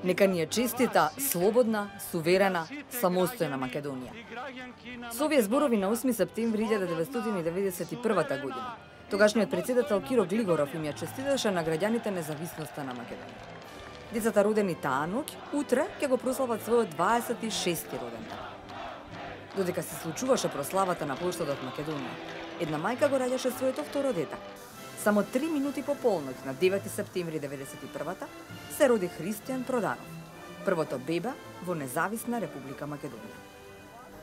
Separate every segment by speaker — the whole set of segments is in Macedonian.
Speaker 1: Нека ни е честита, слободна, суверена, самостојна Македонија. Со овие зборови на 8 септември 1991 година, тогашниот председател Киро Глигоров им ја честиташе на граѓаните независноста на Македонија. Децата родени таа ноќ, утре ќе го прослават својот 26-ти роден ден. Додека се случуваше прославата на плоштадот Македонија, една мајка го раѓаше своето второ дете. Само 3 минути по полноќ на 9 септември 1991 се роди Христијан Проданов, првото бебе во независна Република Македонија.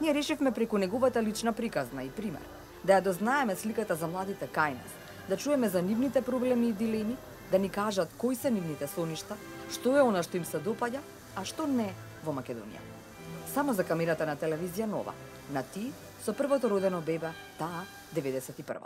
Speaker 1: Ние решивме преку неговата лична приказна и пример да ја дознаеме сликата за младите кај нас, да чуеме за нивните проблеми и дилеми, да ни кажат кои се нивните соништа, што е она што им се допаѓа, а што не во Македонија. Само за камерата на телевизија Нова, на ти со првото родено бебе, таа 91.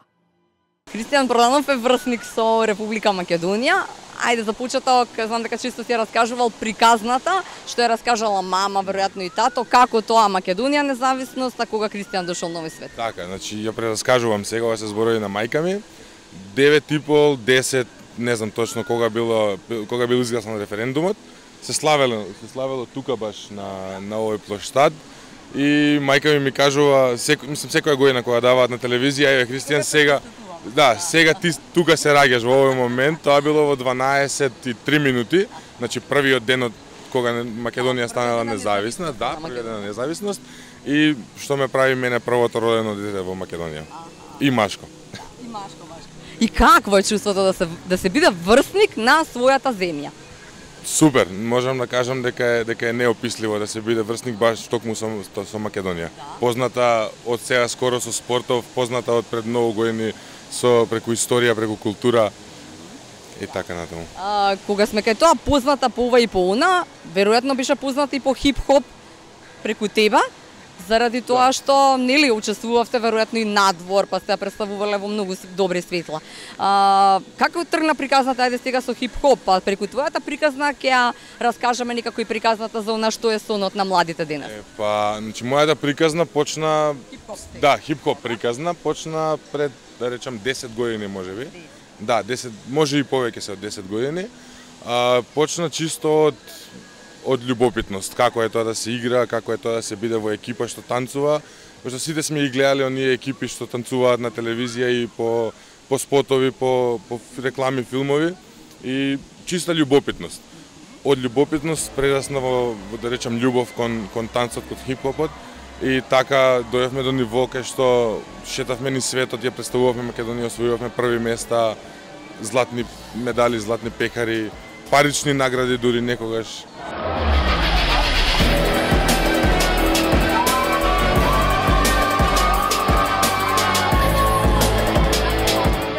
Speaker 2: Христијан Проданов е врсник со Република Македонија. Ајде за почеток, знам дека често си ја раскажувал приказната, што ја раскажала мама, веројатно и тато, како тоа Македонија независност, а кога Христијан дошол на овој свет.
Speaker 3: Така, значи ја прераскажувам сега, ова се зборови на мајка ми. 9,5, 10, не знам точно кога бил изгласан референдумот. Се славело тука баш на овој плоштад. И мајка ми кажува, секоја година кога даваат на телевизија, еве Христијан сега ти тука се раѓаш во овој момент. Тоа било во 12:03 минути, значи првиот ден од кога Македонија станала независна, првиот ден на независност, и што ме прави мене првото родено дете во Македонија. И машко.
Speaker 2: И какво е чувството да се биде врсник на својата земја?
Speaker 3: Супер, можам да кажам дека е неописливо да се биде врсник баш токму со Македонија. Позната од сега скоро со спортов, позната од пред многу години преку историја, преку култура и така натаму.
Speaker 2: Кога сме кај тоа позната по ова и по она, веројатно беше позната и по хип-хоп преку тебе, заради тоа што нели учествувавте веројатно и надвор, па сте ја представувале во многу добри светла. Како тргна приказната, ајде сега со хип-хоп, па преку твојата приказна ќе ја раскажеме некако и приказната за она што е сонот на младите денес.
Speaker 3: Значи мојата приказна почна хип-хоп приказна почна пред, да речам, 10 години можеби. 10, може и повеќе се од 10 години. Почна чисто од љубопитност, како е тоа да се игра, како е тоа да се биде во екипа што танцува, пошто сите сме ги гледале оние екипи што танцуваат на телевизија и по спотови, по реклами, филмови, и чиста љубопитност. Од љубопитност прерасна во да речам љубов кон танцот, кон хип-хопот, и така дојавме до ниво кај што шетавме низ светот, ја представувавме Македонија, освојувавме први места, златни медали, златни пекари, парични награди дури некогаш.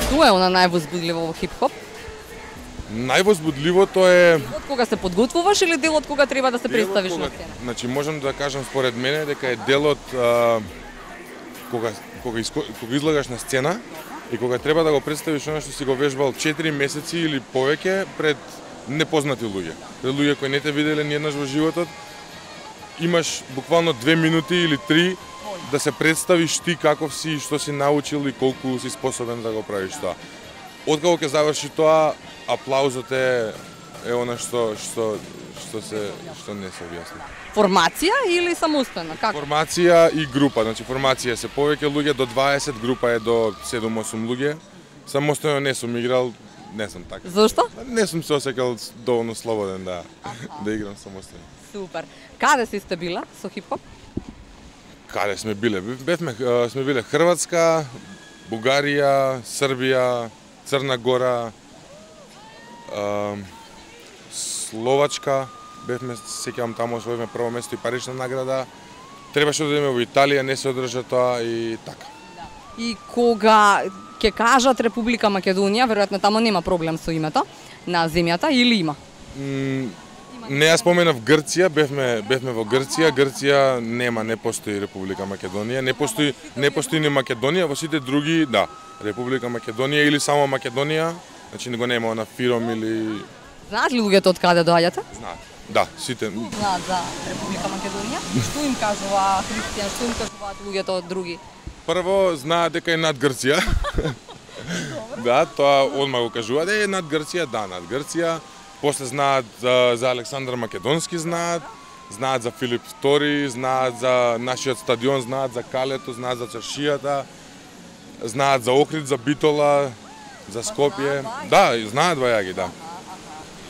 Speaker 2: Што е она највозбудливо во хип-хоп?
Speaker 3: Највозбудливото е...
Speaker 2: Од кога се подготвуваш или делот кога треба да се представиш на сцена?
Speaker 3: Значи можам да кажам според мене дека е делот кога излагаш на сцена и кога треба да го представиш она што си го вежбал 4 месеци или повеќе пред непознати луѓе. Пред луѓе кои не те виделе ниеднаш во животот, имаш буквално 2 минути или 3 да се представиш ти каков си, што си научил и колку си способен да го правиш тоа. Откако ќе заврши тоа, аплаузот е она што не се објасни.
Speaker 2: Формација или самостојна? Како?
Speaker 3: Формација и група, значи формација се повеќе луѓе до 20, група е до 7-8 луѓе. Самостојно не сум играл, не сум така.
Speaker 2: Зошто?
Speaker 3: Не сум се осекал доволно слободен да играм самостојно.
Speaker 2: Супер. Каде сте била со хип-хоп?
Speaker 3: Каде сме биле? Сме биле Хрватска, Бугарија, Србија, Црна Гора, Словачка. Бевме, сеќавам, таму освоивме прво место и парична награда. Требаше да идеме во Италија, не се одржа тоа и така.
Speaker 2: И кога ќе кажат Република Македонија, веројатно таму нема проблем со името на земјата или има?
Speaker 3: Не, ја споменав Грција, бевме во Грција. Грција не постои Република Македонија, не постои ни Македонија, во сите други, Република Македонија или само Македонија, значи го нема на фиром или...
Speaker 2: Знаат ли луѓето од каде доаѓате?
Speaker 3: Знаат. Да, сите.
Speaker 2: Знаат за Република Македонија? Што им кажува Христијан, што им кажуваат луѓето од други?
Speaker 3: Прво, знаат дека е над Грција. Тоа одма го кажуваат. Над Грција, над Грција. после знаат за Александар Македонски, знаат за Филип II, знаат за нашиот стадион, знаат за Калето, знаат за чаршијата, знаат за Охрид, за Битола, за Скопје. Да, знаат вајаги, да.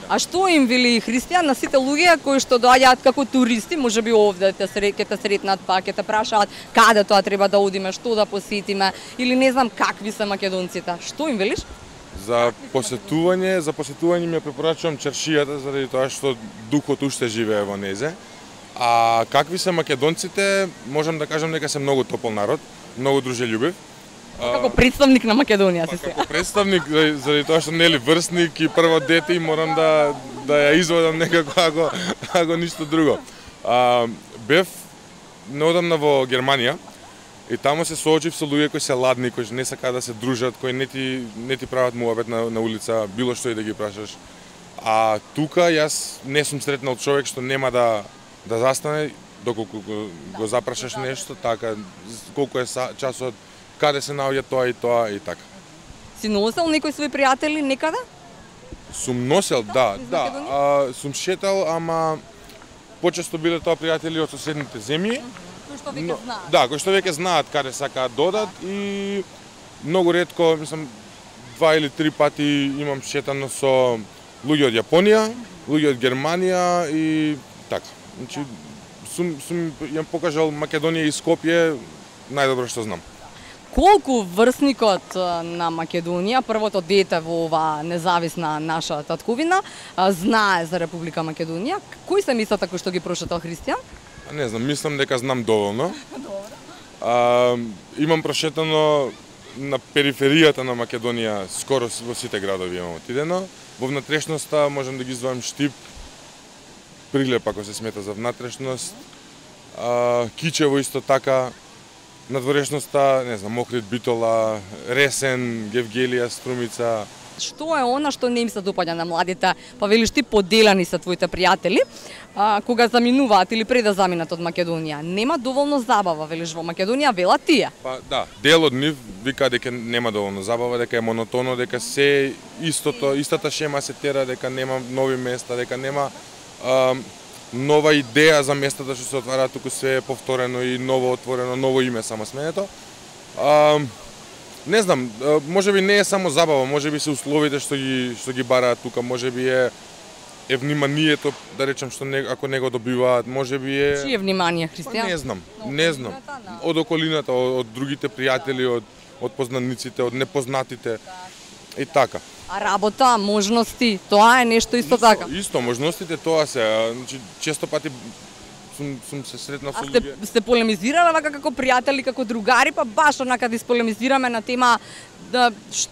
Speaker 2: А што им вели Христијан на сите луѓе кои што доаѓаат како туристи, можеби овде ќе те сретнат, па ќе те прашаат каде тоа треба да одиме, што да посетиме или не знам какви се македонците. Што им велиш?
Speaker 3: За посетување ми препорачувам чаршијата заради тоа што духот уште живее во незе. А какви се македонците, можам да кажам дека се многу топол народ, многу дружелюбив.
Speaker 2: Како представник на Македонија си сега.
Speaker 3: Како представник, заради тоа што нели врсник и прво дете и морам да ја изводам некако ако ништо друго. Бев неодамна во Германија и таму се соочив со луѓе кои се ладни, кои не сакаат да се дружат, кои не ти прават муабет на улица, било што и да ги прашаш. А тука јас не сум сретнал човек што нема да застане доколку го запрашаш нешто, така колку е часот, каде се наоѓа тоа и така.
Speaker 2: Си носел некои своји пријатели некаде?
Speaker 3: Сум носел, да. Сум шетал, ама почесто биле тоа пријатели од соседните земји.
Speaker 2: Кои што веќе знаат.
Speaker 3: Да, кои што веќе знаат каде сакаат додат и многу ретко, мислам, 2 или 3 пати имам шетано со луѓе од Јапонија, луѓе од Германија и така. Значи, сум јам покажал Македонија и Скопје најдобро што знам.
Speaker 2: Колку врсникот на Македонија, првото дете во ова независна наша татковина, знае за Република Македонија? Кои се мислата кои што ги прошетал Христијан?
Speaker 3: Не знам, мислам дека знам доволно. Имам прошетано на периферијата на Македонија, скоро во сите градови имам отидено. Во внатрешноста можам да ги издвојам Штип, Прилеп ако се смета за внатрешност, Кичево исто така, надворешноста, не знам, Охрид, Битола, Ресен, Гевгелија, Струмица.
Speaker 2: Што е она што не им се допаѓа на младите? Па велиш ти поделани се твоите пријатели, кога заминуваат или пред да заминат од Македонија. Нема доволно забава, велиш во Македонија, велат тие?
Speaker 3: Па да, дел од нив вика дека нема доволно забава, дека е монотоно, дека се истата шема се тера, дека нема нови места, дека нема нова идеја за местата што се отвараат, туку се е повторено и ново отворено, ново име само сменето. Не знам, можеби не е само забава, можеби се условите што ги бараат тука, можеби е вниманието, да речам, што ако не го добиваат, можеби е...
Speaker 2: Чие внимание, Христијан?
Speaker 3: Не знам. Од околината, од другите пријатели, од познаниците, од непознатите и така.
Speaker 2: А работа, можности, тоа е нешто исто така?
Speaker 3: Исто, можностите тоа се, значи, често пати сум се сретнал со
Speaker 2: луѓе. А сте полемизирале вака како пријатели, како другари, па баш онака да исполемизираме на тема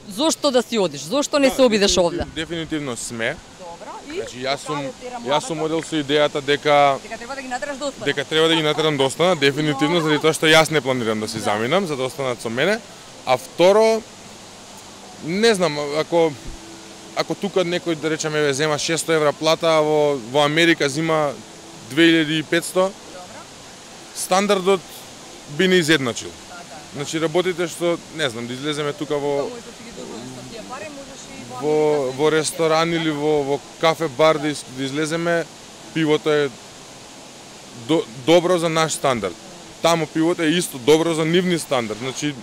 Speaker 2: зошто да си одиш, зошто не се обидеш овде?
Speaker 3: Дефинитивно сме.
Speaker 2: Добро, и
Speaker 3: значи јас сум одел со идејата дека
Speaker 2: треба да ги натераш да останат.
Speaker 3: Дека треба да ги натерам да останат, дефинитивно, заради тоа што јас не планирам да си заминам, за да останат со мене. А второ, не знам, ако тука некој, да речеме, зема 600 евра плата, а во Америка зима 2500, стандардот би не изедначил. Значи работите што, не знам, да излеземе тука во ресторан или во кафе бар да излеземе, пивото е добро за наш стандард. Таму пивото е исто добро за нивни стандард. Значи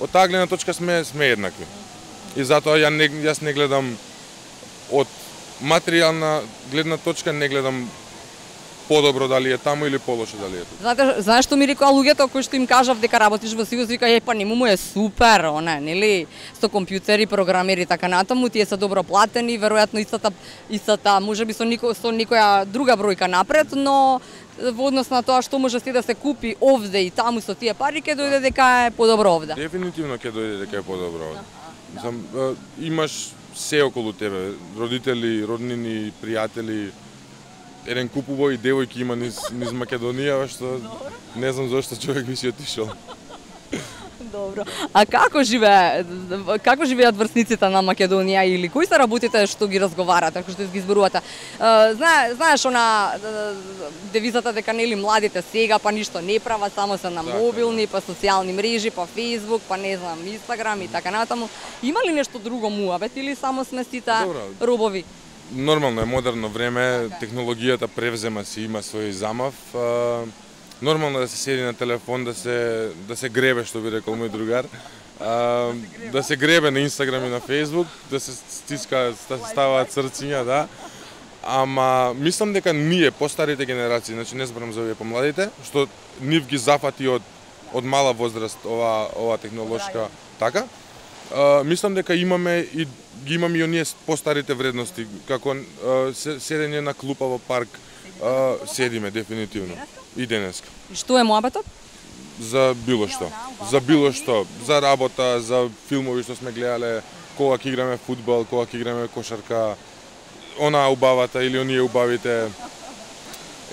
Speaker 3: од таа гледна точка сме еднакви. И затоа јас не гледам од материјална гледна точка, не гледам подобро дали е таму или полошо дали е тука.
Speaker 2: Знаеш што ми рекоа луѓето кои што им кажав дека работиш во Сивус, вика па нему е супер, нели, со компјутери, програмери и така натаму, тие се добро платени, веројатно истата, можеби со никоја друга бројка напред, но во однос на тоа што може да се купи овде и таму со тие пари, ќе дојде дека е подобро овде.
Speaker 3: Дефинитивно ќе дојде дека е подобро овде. Имаш се околу тебе, родители, роднини, пријатели, еден куп убави девојки има низ Македонија, што не знам зошто човек би си отишол.
Speaker 2: Добро. А како живеат врсниците на Македонија или кои се работите што ги разговарате, што ги зборувате? Знаеш она девизата дека нели младите сега па ништо не прават, само се на мобилни, па социјални мрежи, па Facebook, па не знам, Instagram и така натаму. Има ли нешто друго муабет или само сме сите робови?
Speaker 3: Нормално е, модерно време, технологијата превзема си, има свој замав. Нормално да се седи на телефон, да се гребе, што би рекол мој другар. Да се гребе на Инстаграм и на Фейсбук, да се стиска, да се ставаат срциња, да. Ама мислам дека ние, постарите генерации, значи не зборам за овие помладите, што нив ги зафати од мала возраст ова технолошка така. Мислам дека имаме и оние постарите вредности, како седење на клупа во парк, седиме дефинитивно и денеска.
Speaker 2: И што е муабетот?
Speaker 3: За било што, за работа, за филмови што сме гледале, кога ќе играме фудбал, кога ќе играме кошарка, она убавата или оние убавите.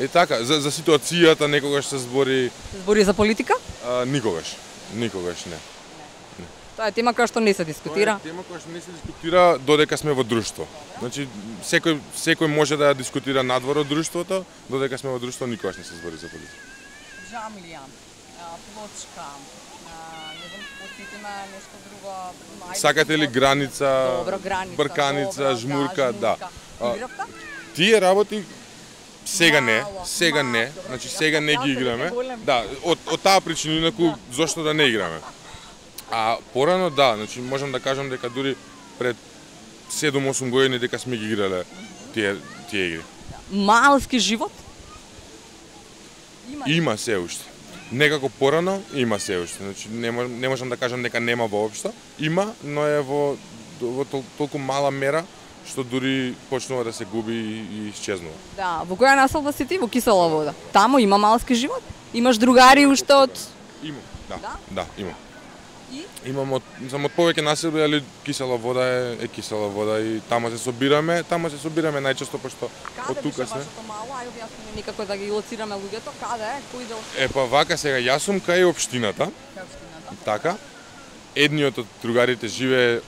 Speaker 3: И така, за ситуацијата некогаш се збори.
Speaker 2: Збори за политика?
Speaker 3: Никогаш не.
Speaker 2: Тоа е тема која што не се дискутира.
Speaker 3: Тоа е тема која што не се дискутира додека сме во друштво. Значи секој може да ја дискутира надвор од друштвото, додека сме во друштво никогаш не се збори за политика.
Speaker 2: Джамлија, плочка, не знам, потсетиме нешто друго.
Speaker 3: Сакате ли граница?
Speaker 2: Добро, граница,
Speaker 3: брканица, жмурка, да.
Speaker 2: Игравте?
Speaker 3: Тие работи сега не, значи сега не ги играме. Да, од таа причина, инаку зошто да не играме. А порано да, значи можам да кажам дека дури пред 7-8 години дека сме ги играле тие игри.
Speaker 2: Малски живот?
Speaker 3: Има се уште. Некако порано има се уште. Значи не можам да кажам дека нема воопшто. Има, но е во толку мала мера што дури почнува да се губи и исчезнува.
Speaker 2: Да, во која населба си ти? Во Кисела вода. Таму има малски живот? Имаш другари уште од...
Speaker 3: Имам, да, имам. Имам од повеќе населби, али Кисела вода е Кисела вода и таму се собираме најчесто пошто од тука сме.
Speaker 2: Каде беше вашето мало? Ај објасни никако да ги лоцираме луѓето. Каде е? Кој дел?
Speaker 3: Па вака сега јас сум кај општината. Така. Едниот од другарите живее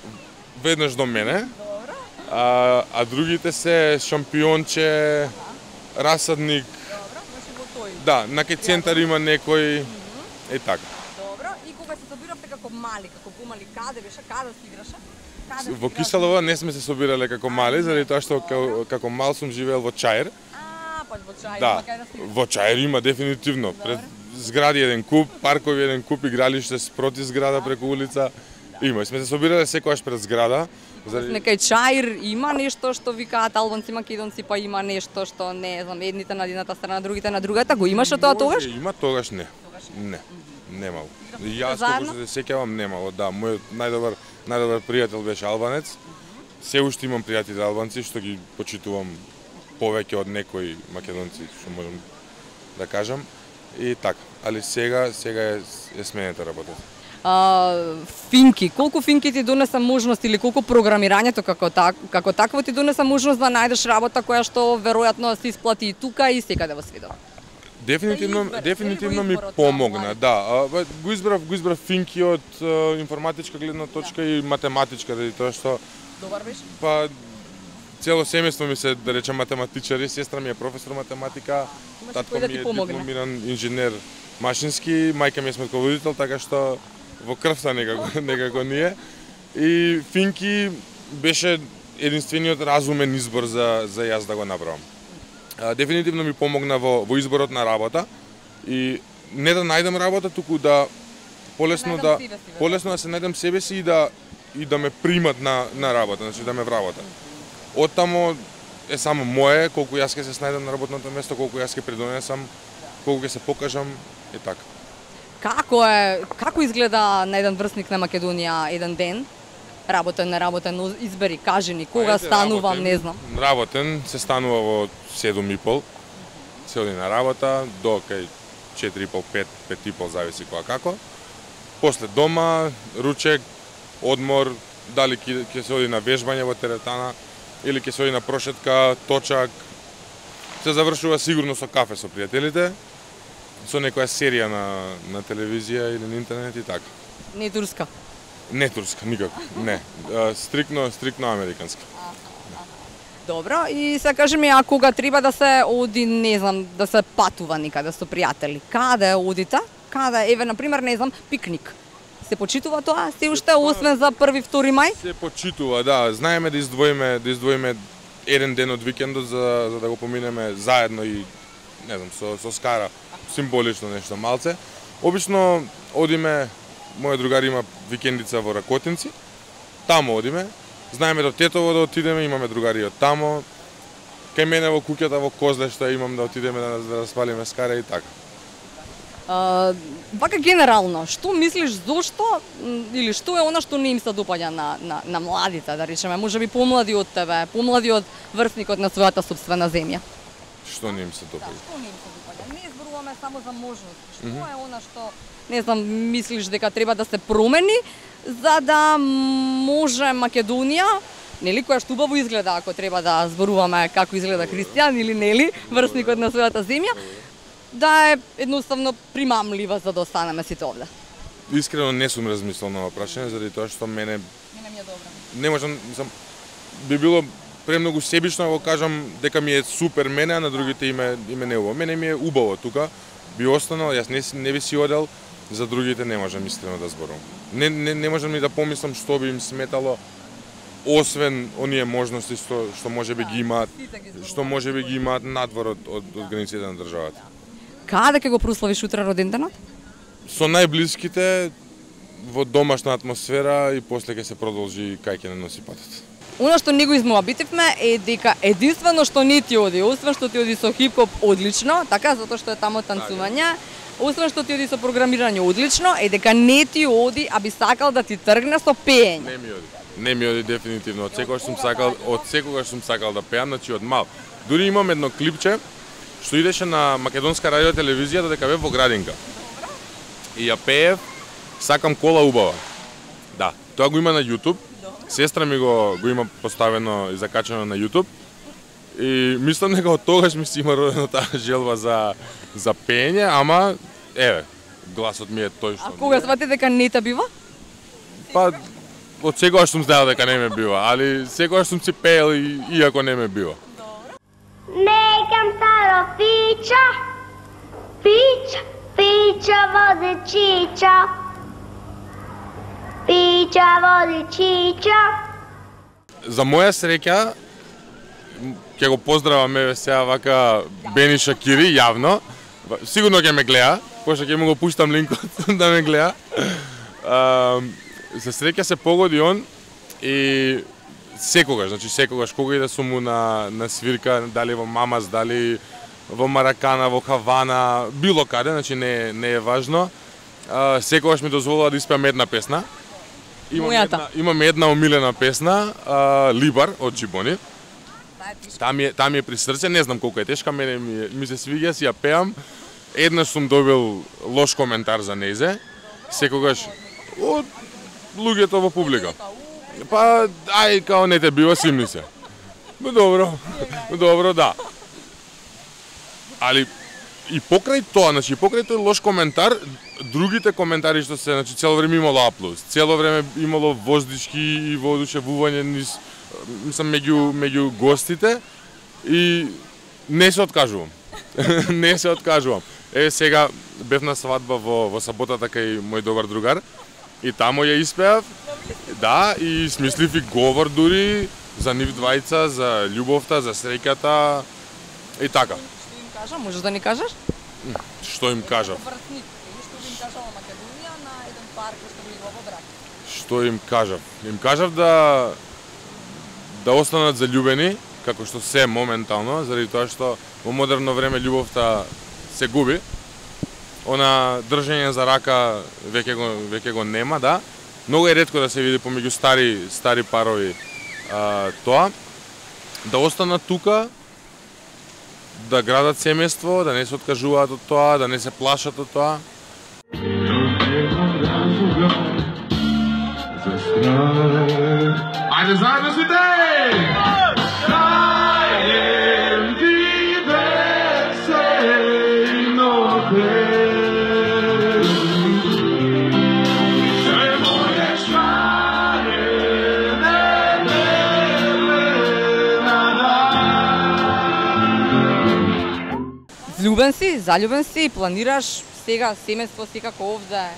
Speaker 3: веднаш до мене. А другите се Шампионче, Расадник.
Speaker 2: Добро, значи во тој.
Speaker 3: Да, на кај центар има некој е така.
Speaker 2: Кога се собиравте како мали, како помали, каде беше, каде се играше?
Speaker 3: Во Кисела вода не сме се собирале како мали, заради тоа што како мал сум живеел во Чаир.
Speaker 2: Па во Чаир,
Speaker 3: да, во Чаир има дефинитивно. Пред згради еден куп, паркови еден куп, игралиште спроти зграда преку улица. Има, сме се собирале секогаш пред зграда.
Speaker 2: Некај Чаир има нешто што викаат албанци, македонци, па има нешто што не знам, едните на едната страна, другите на другата, го имаше тоа тогаш?
Speaker 3: Има тогаш не. Не. Немало. Јас колку се сеќавам немало, да. Мојот најдобар пријател беше албанец. Се уште имам пријатели албанци што ги почитувам повеќе од некои македонци, што можам да кажам. И така, али сега е сменета работата.
Speaker 2: Финки, колку финки ти донеса можност или колку програмирањето како такво ти донеса можност да најдеш работа која што веројатно се исплати и тука и секаде во светот?
Speaker 3: Дефинитивно ми помогна, да. Го избрав финки од информатичка гледна точка и математичка, заради тоа што
Speaker 2: добар беше.
Speaker 3: Па цело семејство ми се, да речем, математичари, сестра ми е професор математика, татко ми е дипломиран инженер машински, мајка ми е сметководител, така што во крвта некако ни е. И финки беше единствениот разумен избор за јас да го направам. Дефинитивно ми помогна во изборот на работа и не да најдам работа, туку да полесно да се најдам себе си и да ме примат на работа, значи да ме вработат. Оттамо е само мое, колку јас ќе се снајдам на работното место, колку јас ќе придонесам, колку ќе се покажам и така.
Speaker 2: Како изгледа на еден врсник на Македонија еден ден? Работен, неработен, избери, кажи ни, кога станувам, не знам.
Speaker 3: Работен се станува во 7:30, се оди на работа, до кај 4:30, 5:30, зависи кога како. После дома, ручек, одмор, дали ќе се оди на вежбање во теретана, или ќе се оди на прошетка, точак. Се завршува сигурно со кафе со пријателите, со некоја серија на телевизија или на интернет и така.
Speaker 2: Не турска.
Speaker 3: Не турска, никако. Не. Стрикно американска.
Speaker 2: Добро, и се кажи ми, а кога треба да се оди, не знам, да се патува никаде со пријатели, каде одите? Каде, еве, например, не знам, пикник. Се почитува тоа? Се уште, освен за 1-2 мај?
Speaker 3: Се почитува, да. Знаеме да издвоиме еден ден од викендот за да го поминеме заедно и, не знам, со скара, символично нешто малце. Обично одиме, мојот другар има викендица во Ракотинци, таму одиме. Знаеме до Тетово да отидеме, имаме другари од тамо. Кај мене во куќата во Козлешта имам да отидеме да распалиме скара и така.
Speaker 2: Вака генерално, што мислиш зошто или што е она што не им се допаѓа на младите, да речеме, можеби помлади од тебе, помлади од врсникот на својата сопствена земја?
Speaker 3: Што не им се допаѓа?
Speaker 2: Да, што не им се допаѓа? Не зборуваме само за можности. Што е она што, не знам, мислиш дека треба да се промени за да може Македонија, нели, која што убаво изгледа, ако треба да зборуваме како изгледа христијан или нели, врсникот на својата земја, да е едноставно примамлива за да останеме сите овде?
Speaker 3: Искрено не сум размислил на ова прашање, заради тоа што мене
Speaker 2: ми е добро.
Speaker 3: Не можам, би било премногу себично да го кажам дека ми е супер мене, а на другите име не убаво. Мене ми е убаво тука, би останал, јас не би си одел, за другите не можам искрено да зборувам. Не можам ни да помислам што би им сметало, освен оние можности што можеби ги имаат, надвор од границите на државата.
Speaker 2: Каде ќе го прославиш утре роденденот?
Speaker 3: Со најблиските, во домашна атмосфера и после ќе се продолжи кај ќе не носи патот.
Speaker 2: Оно што не го измоабитивме е дека единствено што не ти оди, освен што ти оди со хип-хоп одлично, така, затоа што е тамо танцување, освен што ти оди со програмирање одлично, е дека не ти оди, а би сакал да ти тргне со пеење.
Speaker 3: Не ми оди дефинитивно. Од секогаш сум сакал да пеам, значи од мал. Дури имам едно клипче што идеше на македонска радио телевизија додека бев во градинка. И ја пеев "Сакам кола убава". Да, тоа го има на YouTube. Сестра ми го има поставено и закачено на YouTube. И мислам дека од тогаш ми си има родено таа желба за пеење, ама еве, гласот ми е тој што.
Speaker 2: А кога свати дека не те бива?
Speaker 3: Па од секогаш сум знаел дека не ме бива, али секогаш сум си пеел иако не ме бива.
Speaker 4: Nekam staro pića, pića vode čiča, pića vode čiča.
Speaker 3: За моја среќа, ќе го поздравам еве сега вака Бени Шакири јавно. Сигурно ќе ме гледа, пошто ќе му го пуштам линкот да ме гледа. За среќа се погоди он и секогаш кога иде сум му на свирка, дали во Мамас, дали во Маракана, во Хавана, било каде, значи не е важно. Секогаш ми дозволува да испеам една песна. Имам една омилена песна, Либар од Чибони. Таа ми е при срце, не знам колку е тешка, мене ми се свиѓа, си ја пеам. Еднаш сум добил лош коментар за нејзе, секогаш од луѓето во публика. Па, као не те бива, симни се. Добро, да. Али и покрај тоа, значи покрај тој лош коментар, другите коментари што се, значи цело време имало аплауз, цело време имало воздишки и воодушевување меѓу гостите и не се откажувам. Не се откажувам. Еве сега бев на свадба во саботата кај мој добар другар и таму ја испеав. Да, и смислив и говор дури за нив двајца, за љубовта, за среќата и така.
Speaker 2: Што им кажа? Можеш да ни кажеш?
Speaker 3: Што им кажав?
Speaker 2: Што им кажала Македонија на еден пар кој што влегува во брак?
Speaker 3: Што им кажав? Им кажав да останат заљубени, како што се моментално, заради тоа што во модерно време љубовта се губи. Она држење за рака веќе го нема, да. Многу е ретко да се види помеѓу стари парови тоа. Да останат тука, да градат семејство, да не се откажуваат од тоа, да не се плашат од тоа. Ајде заедно сите!
Speaker 2: заљубен си, планираш сега семејство секако овде?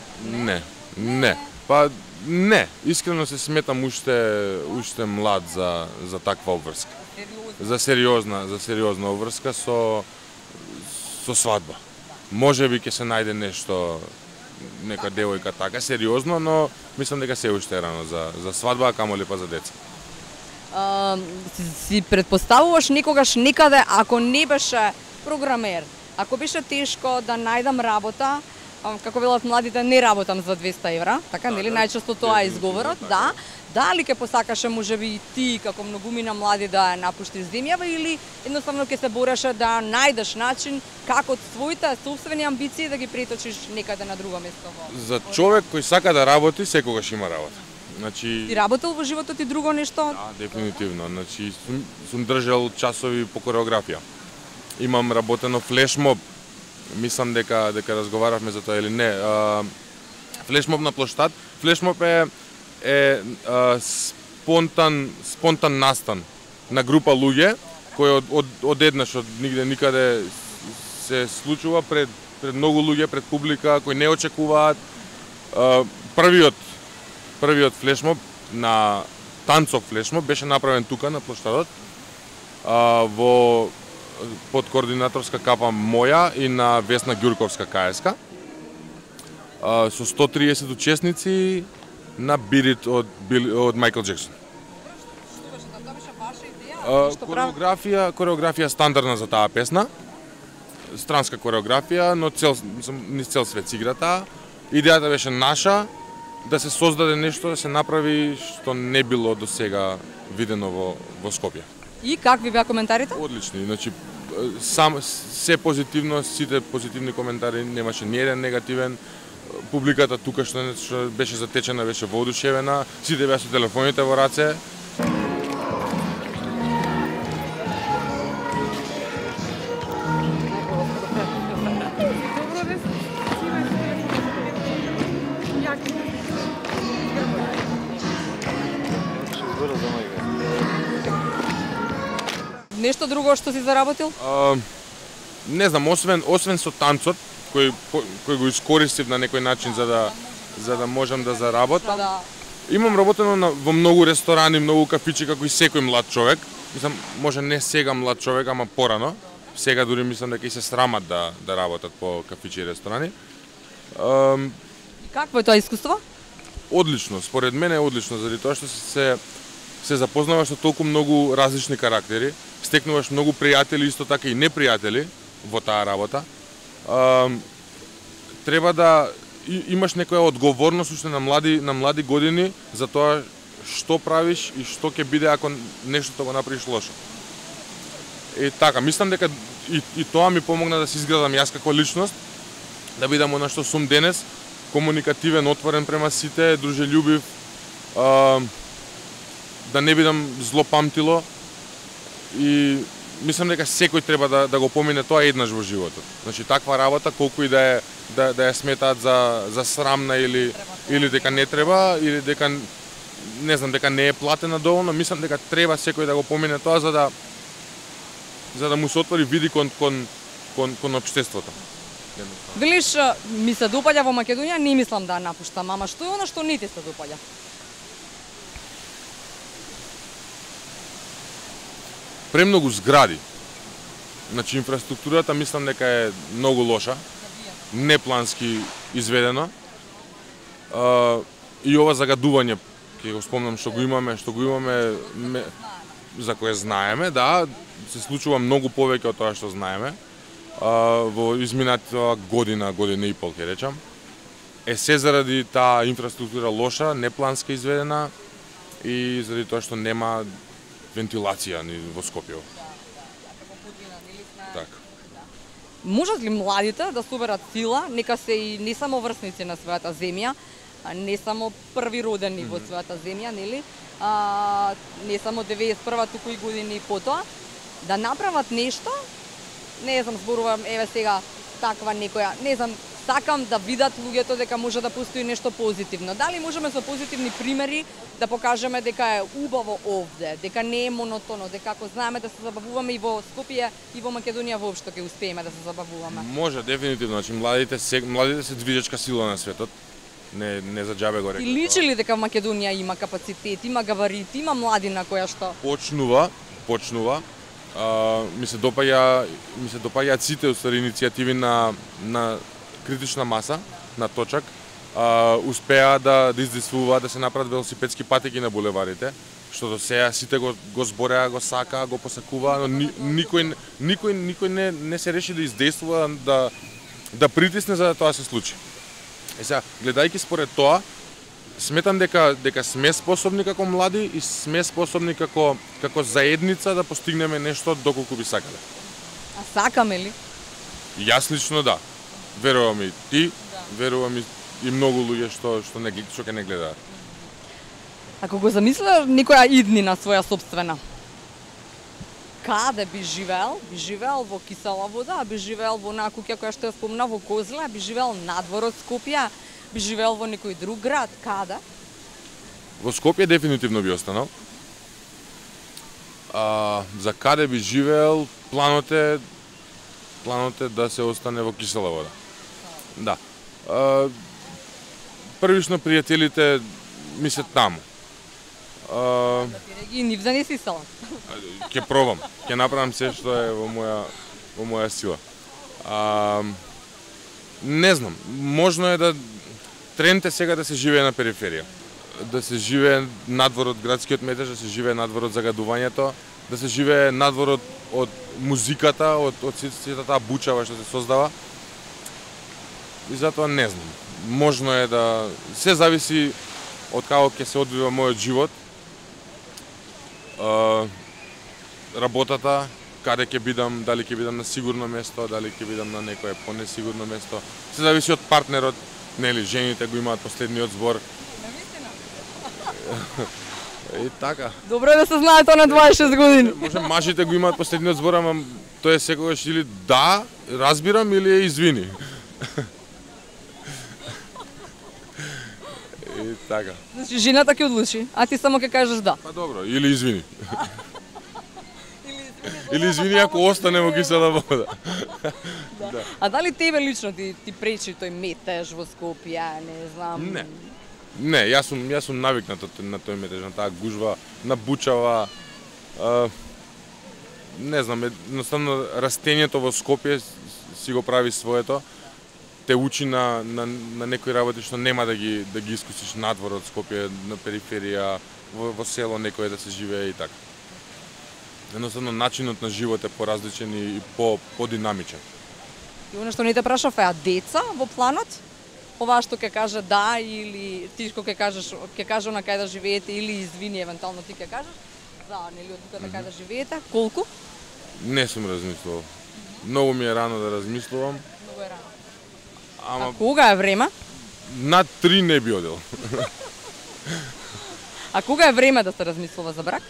Speaker 3: Не. Па не, искрено се сметам уште млад за таква обврска. За сериозна обврска со свадба. Можеби ќе се најде нешто, нека девојка така сериозно, но мислам дека се уште рано за свадба, камоли па за деца.
Speaker 2: Си предпоставуваш некогаш некаде, ако не беше програмер, ако беше тешко да најдам работа, како велат младите, не работам за 200 евра, така, нели, најчесто тоа е изговорот, да. Дали ќе посакаше можеби и ти, како многумина млади, да ја напуштиш земјава, или едноставно ќе се бореше да најдеш начин како своите собствени амбиции да ги преточиш некаде на друго место?
Speaker 3: За човек кој сака да работи, секогаш има работа. Значи,
Speaker 2: ти работел во животот и друго нешто?
Speaker 3: Да, дефинитивно. Значи, сум држал часови по кореографија. Имам работено флешмоб. Мислам дека разговаравме за тоа или не. Флешмоб на плоштад. Флешмоб е спонтан настан на група луѓе кој одеднаш од нигде никаде се случува пред многу луѓе, пред публика кои не очекуваат. Првиот флешмоб на танцов флешмоб беше направен тука на плоштадот под координаторска капа моја и на Весна Ѓурковска КСК со 130 учесници на Beat It од Майкл Джексон. Кореографија стандардна за таа песна, странска кореографија, но низ цел свет се игра таа. Идејата беше наша, да се создаде нешто, да се направи што не било до сега видено во Скопје.
Speaker 2: И какви беа коментарите?
Speaker 3: Одлични, значи се позитивно, сите позитивни коментари, немаше ни еден негативен. Публиката тука што беше затечена, беше воодушевена, сите беа со телефоните во раце.
Speaker 2: Нешто друго што си заработил?
Speaker 3: Не знам, освен со танцот, кој го искористив на некој начин за да можам да заработам.
Speaker 2: Да.
Speaker 3: Имам работено во многу ресторани, многу кафичи, како и секој млад човек. Мислам, може не сега млад човек, ама порано. Сега дури мислам дека и се срамат да работат по кафичи и ресторани.
Speaker 2: Какво е тоа искуство?
Speaker 3: Одлично, според мене е одлично, заради тоа што се запознаваш со толку многу различни карактери, стекнуваш многу пријатели, исто така и непријатели во таа работа. Треба да имаш некоја одговорност уште на млади години за тоа што правиш и што ќе биде ако нештото го направиш лошо. И така, мислам дека и тоа ми помогна да се изградам јас како личност, да бидам она што сум денес, комуникативен, отворен према сите, дружелюбив, да не бидам злопамтило, и мислам дека секој треба да го помине тоа еднаш во животот. Значи таква работа колку и да ја сметаат за срамна или дека не треба, или дека не знам, дека не е платена доволно, мислам дека треба секој да го помине тоа за да му се отвори види кон општеството.
Speaker 2: Велиш, ми се допаѓа во Македонија, не мислам да напуштам, ама што е она што не ти се допаѓа?
Speaker 3: Премногу згради. Значи инфраструктурата мислам дека е многу лоша, неплански изведено. И ова загадување, ќе го спомнам што го имаме, за кое знаеме, да, се случува многу повеќе од тоа што знаеме. Во изминатата година и пол, ќе речам. Се заради таа инфраструктура лоша, неплански изведена и заради тоа што нема вентилација ни во Скопје. Така.
Speaker 2: Можат ли младите да соберат сила, нека се и не само врсници на својата земја, не само први родени во својата земја, нели? Не само 91-та, туку и години потоа, да направат нешто, не знам, зборувам, еве сега таква некоја, не знам, сакам да видат луѓето дека може да постои нешто позитивно. Дали можеме со позитивни примери да покажеме дека е убаво овде, дека не е монотоно, дека ако знаеме да се забавуваме и во Скопје и во Македонија воопшто ќе успееме да се забавуваме.
Speaker 3: Може, дефинитивно, значи младите се движечка сила на светот. Не за џабе го реков.
Speaker 2: И личи ли дека Македонија има капацитет, има габарит, има младина која што
Speaker 3: Почнува. Ми се допаѓаат сите уствари иницијативи на критична маса, на точак. Успеа да издействуваат да се направат велосипедски патеки на булеварите, што до сега сите го збореа, го сакаа, го посакуваа, но никој не се реши да издействува, да притисне за да тоа се случи. Сега, гледајќи според тоа, сметам дека сме способни како млади и сме способни како заедница да постигнеме нешто доколку би сакале.
Speaker 2: А сакаме ли?
Speaker 3: Јас лично да. Верувам и ти, верувам и многу луѓе што ќе не гледаат.
Speaker 2: Ако го замислиш некоја иднина своја собствена, каде би живеел? Би живеел во кисела вода, би живеел во онаа куќа која што ја спомна во Козле, би живеел надвор од Скопје, би живеел во некој друг град, каде?
Speaker 3: Во Скопје дефинитивно би останал. За каде би живеел, планот е да се остане во кисела вода. Да. Првично пријателите ми се таму.
Speaker 2: И нив за не си села.
Speaker 3: Ќе пробам, ќе направам се што е во моја сила. Не знам, можно е да тренд е сега да се живее на периферија. Да се живее надвор од градскиот метеж, да се живее надвор од загадувањето, да се живее надвор од музиката, од сите таа бучава што се создава. И затоа не знам. Можно е да се зависи од како ќе се одвива мојот живот. Работата, каде ќе бидам, дали ќе бидам на сигурно место, дали ќе бидам на некое понесигурно место. Се зависи од партнерот, нели, жените го имаат последниот збор. И така.
Speaker 2: Добро е да се знае тоа на 26 години.
Speaker 3: Може мажите го имаат последниот збор, ама тој е секогаш или да, разбирам, или е извини. И така.
Speaker 2: Значи жената ќе одлучи, а ти само ќе кажеш да.
Speaker 3: Па добро, или извини. Или извини ако остане во кисела вода.
Speaker 2: Да. А дали тебе лично ти пречи тој метеж во Скопје, не знам?
Speaker 3: Не, јас сум навикнат на тој метеж, на таа гужва, на бучава. Не знам, едноставно растењето во Скопје си го прави своето. Те учи на некои работи што нема да ги искусиш надвор од Скопје, на периферија, во село некој да се живее и така. Едноставно начинот на живот е поразличен и подинамичен.
Speaker 2: И оно што не те прашав е, а деца во планот? Ова што ќе каже да или ти што ќе каже на кај да живеете или извини евентуално ти ќе кажеш за нели одлука на кај да живеете? Колку?
Speaker 3: Не сум размислувал. Многу ми е рано да размислувам.
Speaker 2: Многу е рано.
Speaker 3: Ама
Speaker 2: а кога е време?
Speaker 3: над 3 не би одел.
Speaker 2: А кога е време да се размислува за брак?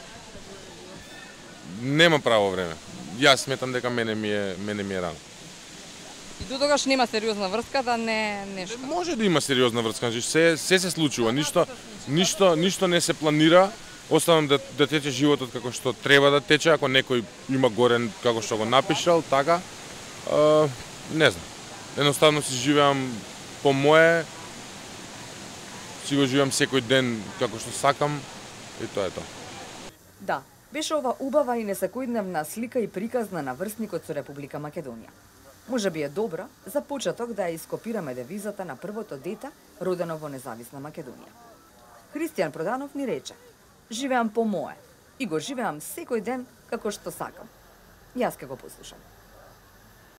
Speaker 3: Нема право време. Јас сметам дека мене ми е рано.
Speaker 2: И до тогаш нема сериозна врска да не нешто.
Speaker 3: Може да има сериозна врска, значи се случува, ништо не се планира. Оставам да тече животот како што треба да тече, ако некој има горен како што го напишал, така. Не знам. Едноставно си живеам по мое, си го живеам секој ден како што сакам и тоа е тоа.
Speaker 1: Да, беше ова убава и несекојдневна слика и приказ на наврсникот со Република Македонија. Може би е добро за почеток да ја ископираме девизата на првото дете родено во независна Македонија. Христијан Проданов ни рече: "Живеам по мое и го живеам секој ден како што сакам." Јас ке го послушам.